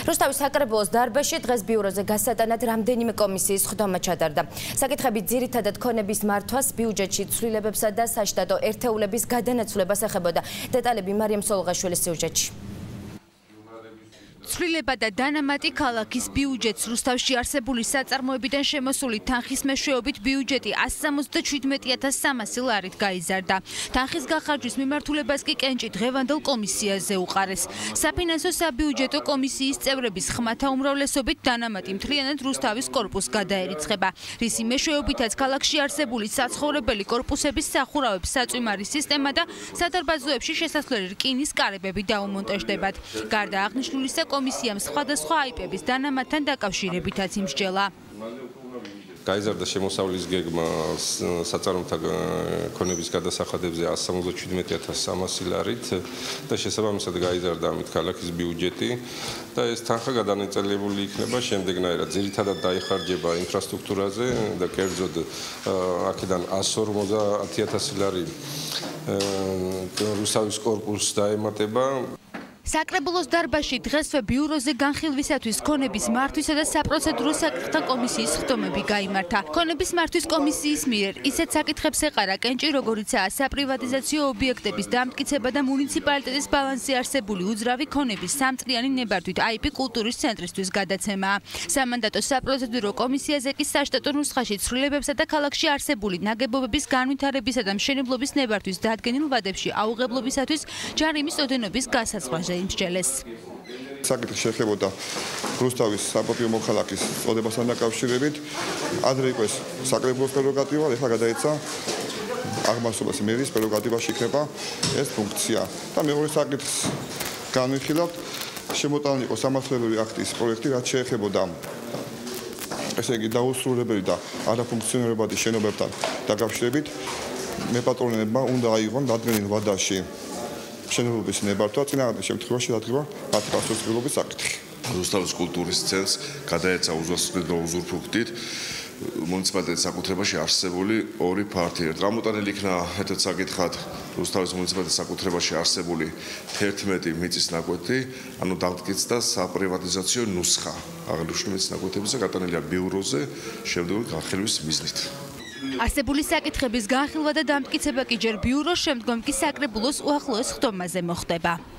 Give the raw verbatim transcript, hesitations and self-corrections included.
რუსთავის საკრებულოს დარბაზში დღეს ბიუროზე გასატანად რამდენიმე კომისიის ხდომა ჩატარდა. საკითხები ძირითადად ქონების მართვას, ბიუჯეტში ცვლილებებსა და საშტატო ერთეულების გადანაცვლებას ეხებოდა. დეტალები მარიამ სოლოღაშვილის სიუჟეტში. ცვლილება და დანამატი ქალაქის ბიუჯეტს რუსთავში არსებული საწარმოებიდან შემოსული თანხის მეშვეობით ბიუჯეტი ასი სამოცდაშვიდმეტი ათას სამასი ლარით გაიზარდა. თანხის გახარჯვის მიმართულებას კი კენჭი დღევანდელ კომისიაზე უყარეს. საფინანსო საბიუჯეტო კომისიის წევრების ხმათა უმრავლესობით დანამატი მთლიანად რუსთავის კორპუსს გადაერიცხება. რისი მეშვეობითაც ქალაქში არსებული საცხოვრებელი კორპუსების სახურავების საწვიმარი სისტემა და სადარბაზოებში შესასვლელი რკინის კარებები დაუმონტაჟდებათ. გარდა აღნიშნულისა კომისიამ სხვადასხვა აიპების დანამატთან დაკავშირებითაც იმსჯელა. გაიზარდა შემოსავლის გეგმა საწარმოთა ქონების გადასახადებზე ასი სამოცდაშვიდმეტი ათას სამასი ლარით და შესაბამისად გაიზარდა ამით ქალაქის ბიუჯეტი და ეს თანხა გადანაწილებული იქნება შემდეგნაირად. ძირითადად დაიხარჯება ინფრასტრუქტურაზე და კერძოდ აქედან ასი ორმოცდაათი ათასი ლარი რუსთავის კორპუსს დაემატება. საკრებულოს დარბაზში დღესვე ბიუროზე განხილვისათვის ქონების მართვისა და საპროცედურო საკითხთა კომისიის ხდომები გაიმართა. ქონების მართვის კომისიის მიერ ისეთ საკითხებს ეყარა კენჭი, როგორიცაა საპრივატიზაციო ობიექტების დამტკიცება და მუნიციპალიტეტის ბალანსზე არსებული უძრავი ქონების სამწლიანი ნებართვით აიპი კულტურის ცენტრისთვის გადაცემა. სამანდატო საპროცედურო კომისიაზე კი საშტატო ნუსხაში ცვლილებებსა და ქალაქში არსებული ნაგებობების განვითარებისა და მშენებლობის ნებართვის დადგენილ ვადებში აუღებლობისათვის ჯარიმის ოდენობის გასაწყობაზე იმსჯელეს. საკითხი შეეხებოდა რუსთავის საპატიო მოქალაქის წოდებასთან დაკავშირებით. ადრე იყო ეს საკრებულოს პრეროგატივა, ეხლა გადაეცა აღმასრულების მერის პრეროგატივაში იქნება ეს ფუნქცია. და მეორე საკითხს განვიხილავთ, შემოტანილი იყო სამართლებრივი აქტის პროექტი, რაც შეეხებოდა ესე იგი დაუსრულებელი და არაფუნქციონირებადი შენობებთან დაკავშირებით. მეპატრონებმა უნდა აიღონ დადგენილ ვადაში შენობების ნებართვა, წინააღმდეგ შემთხვევაში დადგება მათი პასუხისმგებლობის საკითხი. რუსთავის კულტურის ცენტრს გადაეცა უზრუნველყოფით უზურპუქტით მუნიციპალიტეტის საკუთრებაში არსებული ორი ფართი. გამოტანილი იქნა ერთად საკითხად რუსთავის მუნიციპალიტეტის საკუთრებაში არსებული თერთმეტი მიწის ნაკვეთი, ანუ დამტკიცდა საპრივატიზაციო ნუსხა აღნიშნული მიწის ნაკვეთების და გატანილია ბიუროზე შემდგომი განხილვის მიზნით. არსებული საკითხების განხილვა და დამტკიცება კი ჯერ ბიუროს, შემდგომ კი საკრებულოს უახლოეს ხდომაზე მოხდება.